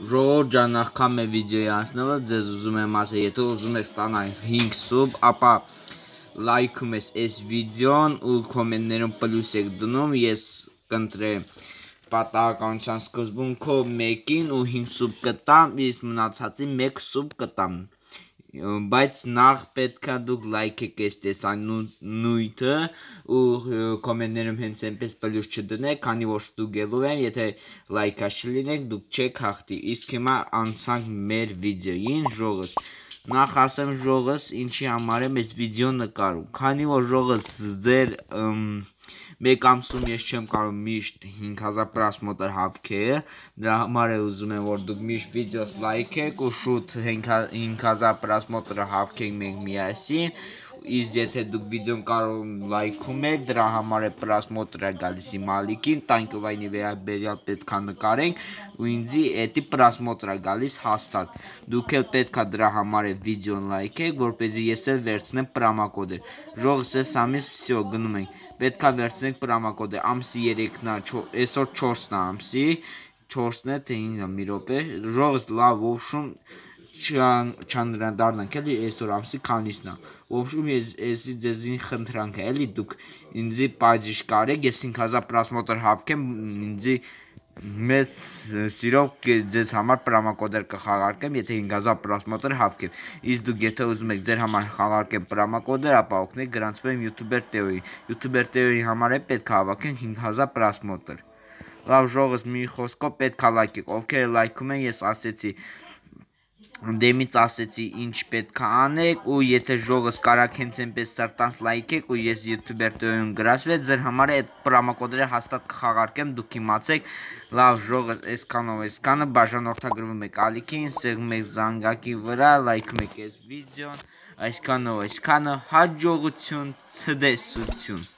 Ժողովուրդ ջան, նախքան մեր վիդեոյի անցնելը ձեզ ուզում եմ ասել, եթե ուզում եք ստանալ 5 սուբ, ապա լայքում ես այս վիդեոն ու կոմենտներում պլյուս եք դնում, ես կընտրեմ պատահականության սկզբունքով 1-ին ու 5 սուբ կտամ, իսկ մնացածին 1 սուբ կտամ, բայց նախ պետքա դուք լայքեք այս տեսանյութը ու կոմենտներում հենց այնպես պլյուս չդնեք, քանի որ ստուգելու եմ, եթե լայքա չլինեք դուք չեք հաղթի, իսկ հիմա անցանք մեր վիդեոյին, ժողովուրդ, նախ ասեմ ժողովուրդ ինչի համար եմ այս վիդեոն նկարում, քանի որ ժողովուրդ ձեր մեկ ամսում ես չեմ կարող միշտ 5000 պրասմոտր հավքել, դրա համար է ուզում եմ որ դուք միշտ վիդեոս լայքեք ու շուտ 5000 պրասմոտր հավքենք մենք միասին, իսկ եթե դուք վիդեոն կարող լայքում եք, դրա համար է պրասմոտրը գալիս իմ ալիքին, տանկովայնի վերաբերյալ պետքա նկարենք ու ինձի էդի պրասմոտրը գալիս հաստատ, դուք էլ պետքա դրա համար է վիդեոն լայքեք, որպեսզի ես էլ վերցնեմ պրոմոկոդը, ժողովուրդ այս ամիս վсё գնում ենք, պետքա վերցնենք պրոմոկոդը, ամսի 3-ն է, այսօր 4-ն է ամսի, 4-ն է թե 5-ը մի րոպե, ժողովուրդ լավ ոբշում չանդրադառնանք էլի այսօր ամսի քանիսն է, ոբշում էսի ձեզին խնդրանք է էլի դուք ինձի պայծիժ կարեք, ես 5000 պրասմոտր հավքեմ, ինձի մեծ սիրով ձեզ համար պրոմոկոդեր կխաղարկեմ, եթե 5000 պրասմոտր հավքեմ, իսկ դուք եթե ուզում եք ձեր համար խաղարկեմ պրոմոկոդեր, ապա օգնեք գրանցվեմ յութուբեր Տեոյի համար է պետք է հավաքենք 5000 պրասմոտր, լավ ժողովուրդ մի խոսքով պետք է լայքեք, ովքեր լայքում են ես ասեցի, դեմից ասեցի ինչ պետք է անեք ու եթե ժողովուրդ կարաք հենց այնպես սրտանց լայքեք ու ես յութուբեր Տեոյում գրասվեմ, ձեր համար այդ պրոմոկոդերը հաստատ կխաղարկեմ, դուք իմացեք, լավ ժողովուրդ այսքանը բաժանորդագրվում եք ալիքին, սեղմում եք զանգակի վրա, լայքում եք այս վիդեոն, այսքանը հաջողություն, ցտեսություն